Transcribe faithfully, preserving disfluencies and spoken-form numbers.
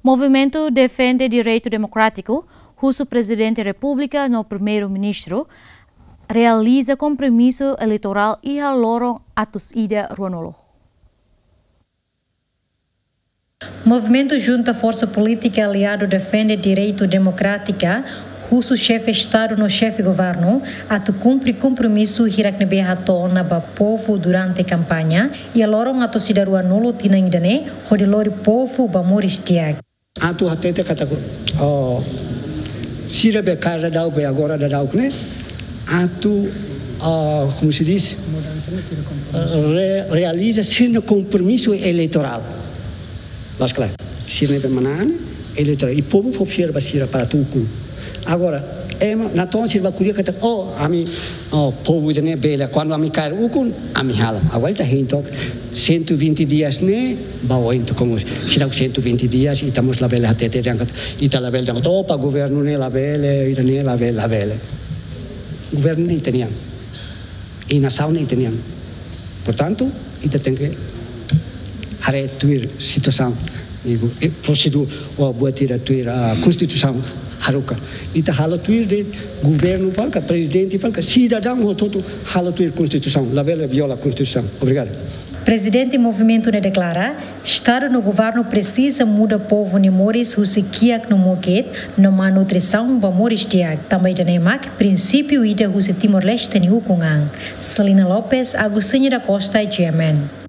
Movimentu Defende Direitu Demokrátiku husu Prezidente Repúblika no Primeiru-Ministru realiza kompromisu eleitorál iha loron atus ida ruanulu. Movimentu Junta Forsa Polítika Aliadu Defende Direitu Demokrátika husu Xefe Estadu no Xefe Governu atu kumpre kompromisu hirak ne'ebé hato'o ona ba povu durante kampaña iha loron atus ida ruanulu tinan ida-ne'e, hodi lori povu ba moris di'ak. Atu hatete katak, oh, sira be kaer daudauk be agora daudauk ne'e, atu, ah, como se diz? Re-, realiza sira-nia kompromisu eleitorál. Mas klaru, sira-nia be manán eleitorál. I povu fó fiar ba sira para atu ukun. Agora, ema, natoon sira bá ko'alia katak, oh, ami, oh, povu ida-ne'e bele, kuandu ami kaer ukun, ami halo. Agora ita hein took, cento e vinte dias ne'e, ba oin took, como sira cento e vinte dias, ita mós labele hatete dehan katak, ita labele dehan katak, oh, ba governu ne'e labele, ida-ne'e labele, labele. Governu ne'e ita-nian. I nasaun ne'e ita-nian. Portantu, ita tenke haree tuir situasaun, digo, eh, prosedur, ou buat ida tuir, ah, konstituisaun haruka. Ita halo tuir de'it governu fali ka, prezidente fali ka, sidadaun hotu-hotu halo tuir konstituisaun, labele viola konstituisaun. Obrigadu. Prezidente movimentu ne'e deklara, Estadu no governu presiza muda povu nia moris husi kiak no mukit, no malnutrisaun ba moris di'ak. Tanba ida-ne'e mak prinsípiu ida husi Timor-Leste nia ukun an. Celina Lopes, Agostinho da Costa, G M N.